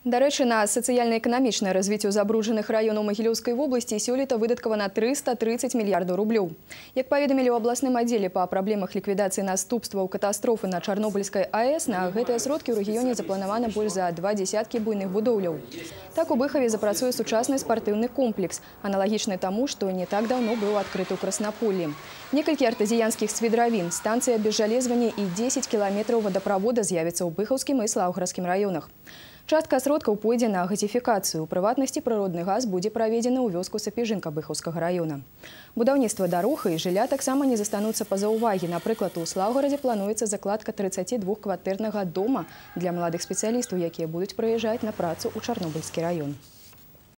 Дарэчы, на сацыяльна-эканамічнае развіццё забруджаных раёнаў Магілёўскай вобласці сёлета выдаткавана 330 мільярдаў рублёў. Як паведамілі ў абласным аддзеле па праблемах ліквідацыі наступстваў катастрофы на Чарнобыльскай АЭС, на гэтыя сродкі ў рэгіёне запланавана больш за 20 буйных будоўляў. Так у Быхаве запрацуе сучасны спартыўны комплекс, аналагічны таму, што не так даўно быў адкрыты ў Краснаполі. Некалькі артазіянскіх свідравін, станцыя абезжалезвання і 10 кіламетраў вадаправода з'явіцца ў Быхаўскім і Слаўгарадскім раёнах. Частка сродкаў пойдзе на газіфікацыю. У прыватнасці прыродны газ будзе праведзены ў вёску Сапежынка Быхаўскага раёна. Будаўніцтва дарог і жылля таксама не застануцца па-за ўвагі. Напрыклад, у Слаўгарадзе плануецца закладка 32-кватэрнага дома для маладых спецыялістаў, якія будуць прыязджаць на працу ў Чарнобыльскі раён.